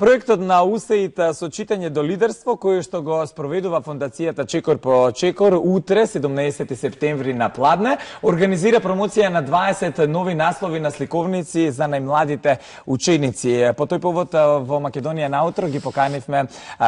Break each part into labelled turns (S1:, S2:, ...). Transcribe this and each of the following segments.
S1: Проектот на УСАИД со читање до лидерство, кој што го спроведува Фондацијата Чекор по Чекор, утре, 17 септември на Пладне, организира промоција на 20 нови наслови на сликовници за најмладите ученици. По тој повод во Македонија наутро ги поканивме,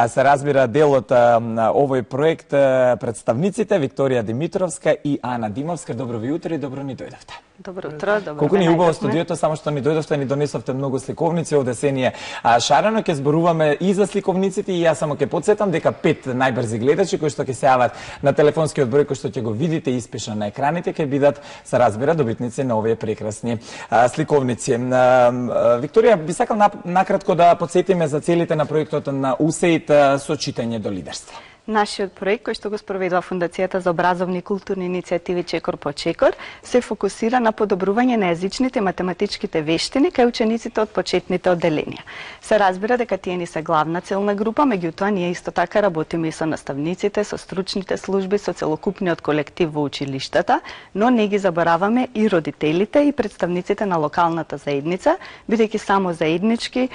S1: се разбира, делот на овој проект представниците Викторија Димитровска и Ана Димовска. Добро ви утро и добро ни дојдовте.
S2: Добро утро, добро.
S1: Колку ни убаво студиото, само што ни дојдовте, ни донесовте многу сликовници, овде се ни е шарено, ќе зборуваме и за сликовниците и јас само ќе подсетам дека 5 најбрзи гледачи кои што ќе се јават на телефонскиот број кој што ќе го видите испишан на екраните ќе бидат, се разбира, добитници на овие прекрасни сликовници. Викторија, би сакал накратко да подсетиме за целите на проектот на УСАИД со читање до лидерство.
S2: Нашиот проект, кој што го спроведува Фондацијата за образовни и културни иницијативи Чекор по Чекор, се фокусира на подобрување на јазичните и математичките вештини кај учениците од почетните одделенија. Се разбира дека тие ни се главна целна група, меѓутоа ние исто така работиме и со наставниците, со стручните служби, со целокупниот колектив во училиштата, но не ги забораваме и родителите и представниците на локалната заедница, бидејќи само заеднички,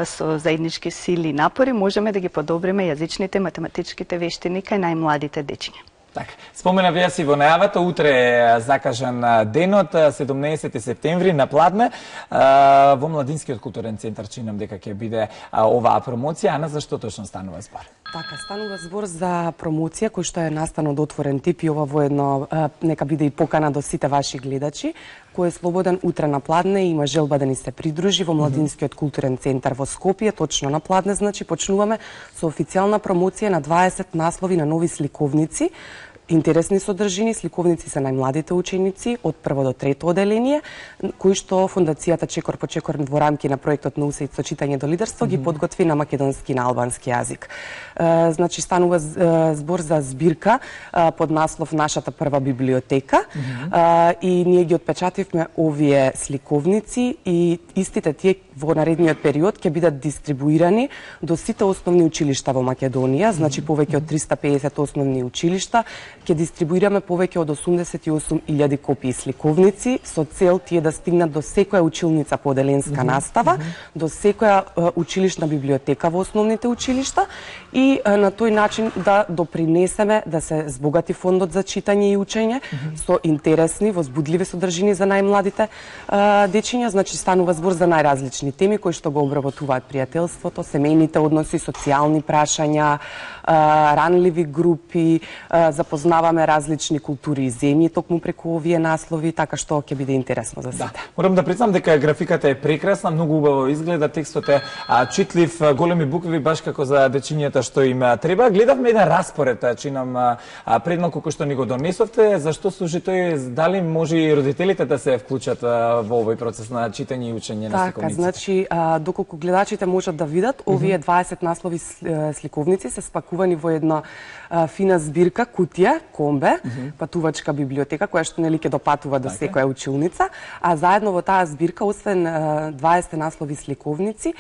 S2: со заеднички сили и напори можеме да ги подобриме јазичните и математичките вештини кај најмладите дечиња.
S1: Така, споменав јас и во најавата, утре е закажан денот, 17 септември на Пладне, во Младинскиот културен центар, чинам дека ќе биде оваа промоција. Ана, за што точно станува збор?
S3: Така, станува збор за промоција кој што е настан од отворен тип и ова воедно нека биде и покана до сите ваши гледачи, кој е слободен утре на Пладне и има желба да ни се придружи во Младинскиот културен центар во Скопје, точно на Пладне, значи почнуваме со официјална промоција на 20 наслови на нови сликовници. Интересни содржини, сликовници се најмладите ученици од прво до трето одделение, кои што Фондацијата Чекор по Чекор во рамки на проектот на УСАИД со читање до лидерство ги подготви на македонски и на албански јазик. Значи станува збор за збирка под наслов Нашата прва библиотека и ние ги отпечативме овие сликовници и истите тие во наредниот период ќе бидат дистрибуирани до сите основни училишта во Македонија, значи повеќе од 350 основни училишта. Ќе дистрибуираме повеќе од 88.000 копии сликовници со цел тие да стигнат до секоја училница по одделенска настава, до секоја училишна библиотека во основните училишта и на тој начин да допринесеме да се збогати фондот за читање и учење со интересни, возбудливи содржини за најмладите дечиња. Значи станува збор за најразлични теми кои што го обработуваат пријателството, семејните односи, социјални прашања, ранливи групи, запознаваме различни култури и земји токму преку овие наслови, така што ќе биде интересно за сите.
S1: Да. Морам да признам дека графиката е прекрасна, многу убаво изгледа, текстот е читлив, големи букви баш како за дечињата што им треба. Гледавме еден распоред, чинам пред малку кој што ни го донесовте, зашто служи тој, дали може и родителите да се вклучат во овој процес на читање и учење на сликовниците?
S3: Така, значи доколку гледачите можат да видат, овие 20 наслови сликовници се спакувани во една фина збирка, кутија, комбе, патувачка библиотека, која што нели ќе допатува до секоја училница, а заедно во таа збирка, освен 20 наслови сликовници,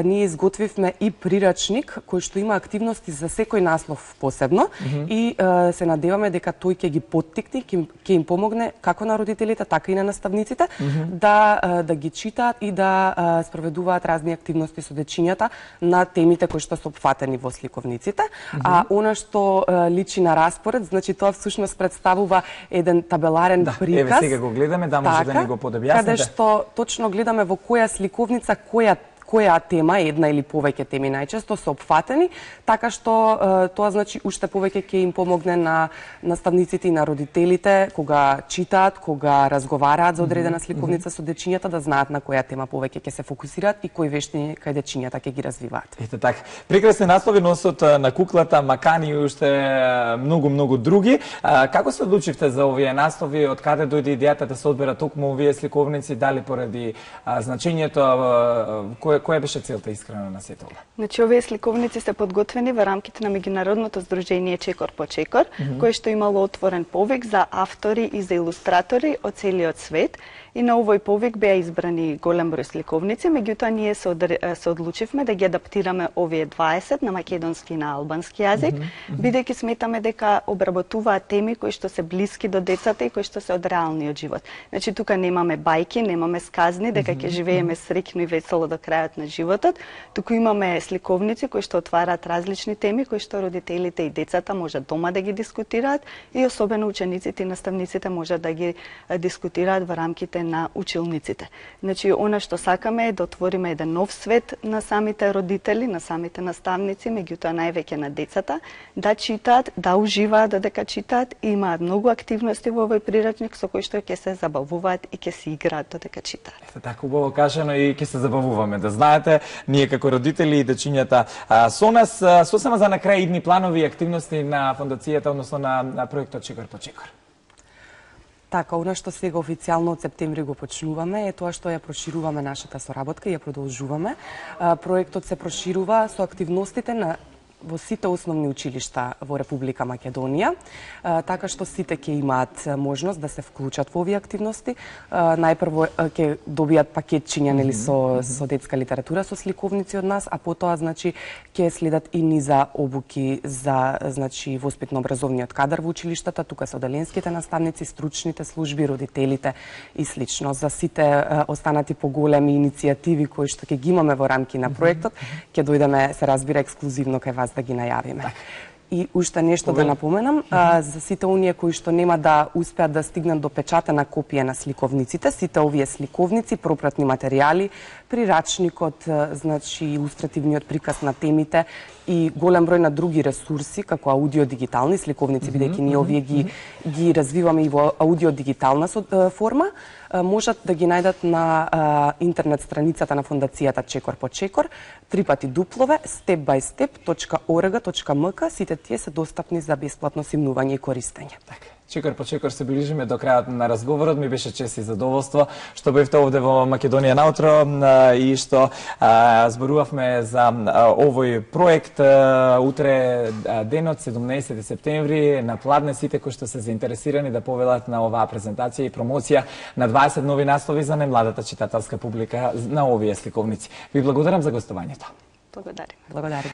S3: ние изготвивме и прирачник кој што има активности за секој наслов посебно и се надеваме дека тој ќе ги поттикне, ќе им помогне како на родителите, така и на наставниците да ги читаат и да спроведуваат разни активности со дечињата на темите кои што се опфатени во сликовниците. А она што личи на распоред, значи тоа всушност представува еден табеларен приказ.
S1: Еве сега го гледаме, да може да ни го подобјасните.
S3: Каде што точно гледаме во која сликовница, која тема, една или повеќе теми најчесто се опфатени, така што тоа значи уште повеќе ќе им помогне на наставниците и на родителите кога читаат, кога разговараат за одредена сликовница со дечињата, да знаат на која тема повеќе ќе се фокусираат и кои вештини кај дечињата ќе ги развиваат.
S1: Ете така. Прекрасни наслови носот на куклата, Макани и уште многу други. Како се одлучивте за овие наслови? Од каде дојде идејата да се одберат токму овие сликовници? Дали поради значењето, која беше целта искрено на сето ова?
S2: Значи, овие сликовници се подготвени во рамките на меѓународното здружение Чекор по Чекор, кое што имало отворен повик за автори и за илустратори од целиот свет И на овој повик беа избрани голем број сликовници, меѓутоа ние се одлучивме да ги адаптираме овие 20 на македонски и на албански јазик, бидејќи сметаме дека обработуваат теми кои што се блиски до децата и кои што се од реалниот живот. Значи тука немаме бајки, немаме сказни дека ќе живееме среќно и весело до крајот на животот, туку имаме сликовници кои што отвараат различни теми кои што родителите и децата можат дома да ги дискутираат и особено учениците и наставниците можат да ги дискутираат во рамките на училниците. Значи она што сакаме е да отвориме еден нов свет на самите родители, на самите наставници, меѓутоа највеќе на децата, да читаат, да уживаат додека читаат и имаат многу активности во овој прирачник со кои што ќе се забавуваат и ќе се играат додека читаат.
S1: Така убаво кажано и ќе се забавуваме. Да знаете, ние како родители и дечињата со нас, сосема за на крај идни планови и активности на фондацијата, односно на проектот Чекор по Чекор.
S3: Така, она што сега официјално од септември го почнуваме е тоа што ја прошируваме нашата соработка и ја продолжуваме. Проектот се проширува со активностите во сите основни училишта во Република Македонија, така што сите ќе имаат можност да се вклучат во овие активности. Најпрво ќе добијат пакетчиња нели со детска литература со сликовници од нас, а потоа значи ќе следат и низа обуки за значи воспитно-образовниот кадар во училиштата, тука се оделенските наставници, стручните служби, родителите и слично. За сите останати поголеми иницијативи кои што ќе ги имаме во рамки на проектот, ќе дојдеме, се разбира, ексклузивно кај вас да ги најавиме. И уште нешто да напоменам, за сите оние кои што нема да успеат да стигнат до печатена копија на сликовниците, сите овие сликовници, пропратни материјали, прирачникот, значи илустративниот приказ на темите и голем број на други ресурси, како аудио-дигитални сликовници, бидејќи ние овие ги развиваме и во аудио-дигитална форма, можат да ги најдат на интернет страницата на фондацијата Чекор по Чекор, step-by-step.org.mk. Сите тие се достапни за бесплатно симнување и користење.
S1: Чекор по Чекор се ближиме до крајот на разговорот. Ми беше чест и задоволство што бевте овде во Македонија наутро и што зборувавме за овој проект. Утре денот, 17 септември, на Пладне, сите кои што се заинтересирани да повелат на оваа презентација и промоција на 20 нови наслови за најмладата читателска публика на овие сликовници. Ви благодарам за гостувањето.
S2: Благодарим.
S3: Благодарим.